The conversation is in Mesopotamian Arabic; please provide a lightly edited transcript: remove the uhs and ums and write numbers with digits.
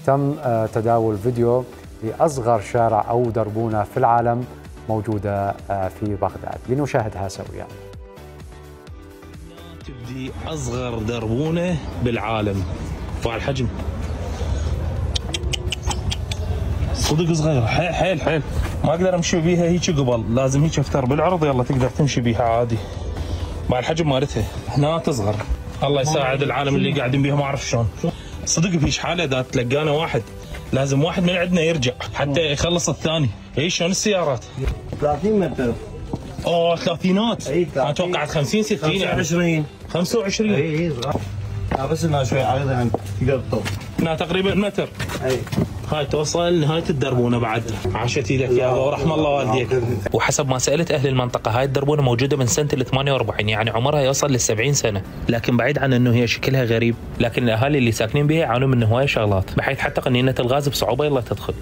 تم تداول فيديو لأصغر شارع أو دربونة في العالم موجودة في بغداد. لنشاهدها سويا. تبدي أصغر دربونة بالعالم، فوق الحجم صدق صغير حيل حيل، ما اقدر امشي بيها هيك قبل، لازم هيك افتر بالعرض يلا تقدر تمشي بيها عادي. مع الحجم مالتها هنا تصغر، الله يساعد العالم اللي قاعدين بيها ما اعرف شلون. صدق بهيش حاله اذا تلقانا واحد لازم واحد من عندنا يرجع حتى يخلص الثاني. اي شلون السيارات 30 متر. اوه ثلاثينات. انا توقعت 50 60 يعني 25. اي صغار. بس انها شوي عريضه يعني تقدر تطول. هنا تقريبا متر. اي هاي توصل نهايه الدربونه بعد. عاشت ايدك يا ابا ورحم الله والديك. وحسب ما سالت اهل المنطقه هاي الدربونه موجوده من سنه ال 48، يعني عمرها يوصل لل 70 سنه، لكن بعيد عن انه هي شكلها غريب، لكن الاهالي اللي ساكنين بها يعانون من هوايه شغلات، بحيث حتى قنينه الغاز بصعوبه يلا تدخل.